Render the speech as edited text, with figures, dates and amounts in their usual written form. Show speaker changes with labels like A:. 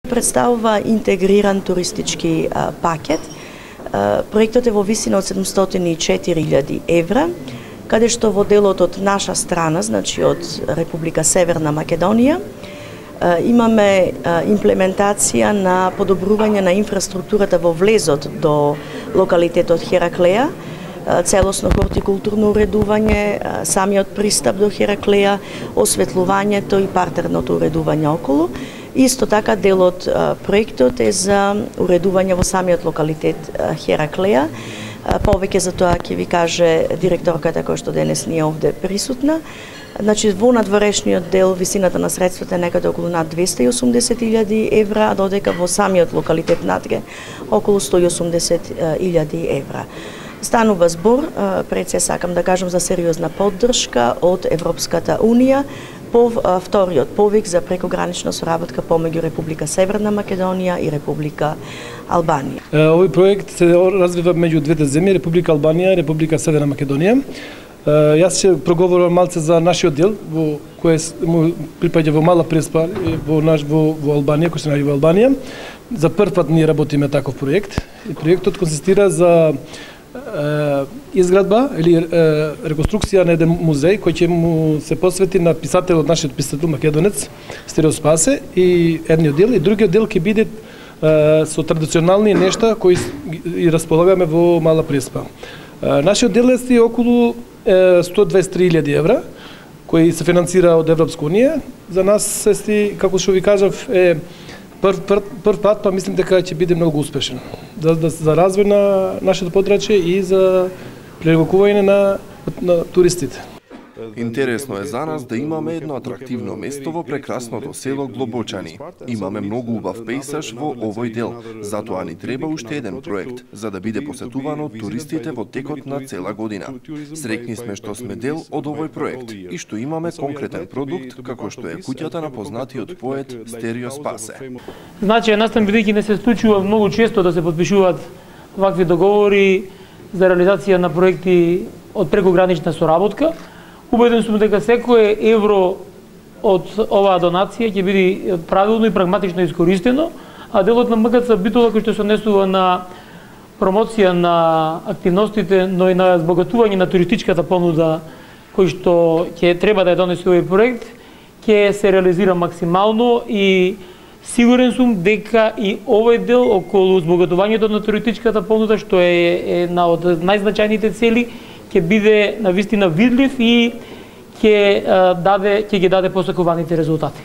A: Представува интегриран туристички пакет. Проектот е во висина од 704.000 евра, каде што во делот од наша страна, значи од Република Северна Македонија, имаме имплементација на подобрување на инфраструктурата во влезот до локалитетот Хераклеја, целосно хортикултурно уредување, самиот пристап до Хераклеја, осветлувањето и партерното уредување околу. Исто така дел од проектот е за уредување во самиот локалитет Хераклеја. Повеќе за тоа ќе ви каже директорката која што денес не е овде присутна. Значи, во надворешниот дел висината на средствата е некаде околу над 280.000 евра, а додека во самиот локалитет надге околу 180.000 евра. Станува збор, пред се сакам да кажам за сериозна поддршка од Европската Унија по вториот повик за прекогранична соработка помеѓу Република Северна Македонија и Република Албанија.
B: Овој проект се развива меѓу двете земји, Република Албанија и Република Северна Македонија. Јас ќе проговорам малце за нашиот дел, во кој му припаѓа во Мала Преспа во Албанија, кој се наоѓа во Албанија. За прв пат ние работиме таков проект. И проектот консистира за изградба или реконструкција на еден музеј кој ќе му се посвети на писателот, нашиот писател македонец Стерио Спасе, и едниот дел, и другиот дел ќе биде со традиционални нешта кои и располагаме во Мала Преспа. Нашиот дел е околу 123.000 евра, кои се финансира од Европска Унија. За нас како што ви кажав, е прв пат, па мислим дека ќе биде многу успешен за развој на нашето подрачје и за привлекување на туристите.
C: Интересно е за нас да имаме едно атрактивно место во прекрасното село Глобочани. Имаме многу убав пејсаж во овој дел, затоа ни треба уште еден проект, за да биде посетуван од туристите во текот на цела година. Среќни сме што сме дел од овој проект и што имаме конкретен продукт, како што е куќата на познатиот поет Стерио Спасе.
D: Значи, настан бидејќи не се случува многу често да се подпишуваат вакви договори за реализација на проекти од прекогранична соработка, убеден сум дека секое евро од оваа донација ќе биде правилно и прагматично искористено, а делот на МКЦ Битола кој што се однесува на промоција на активностите, но и на збогатување на туристичката понуда кој што ќе треба да ја донесе овој проект, ќе се реализира максимално и сигурен сум дека и овој дел околу збогатувањето на туристичката понуда, што е една од најзначајните цели, ќе биде навистина видлив и ќе ги даде посакуваните резултати.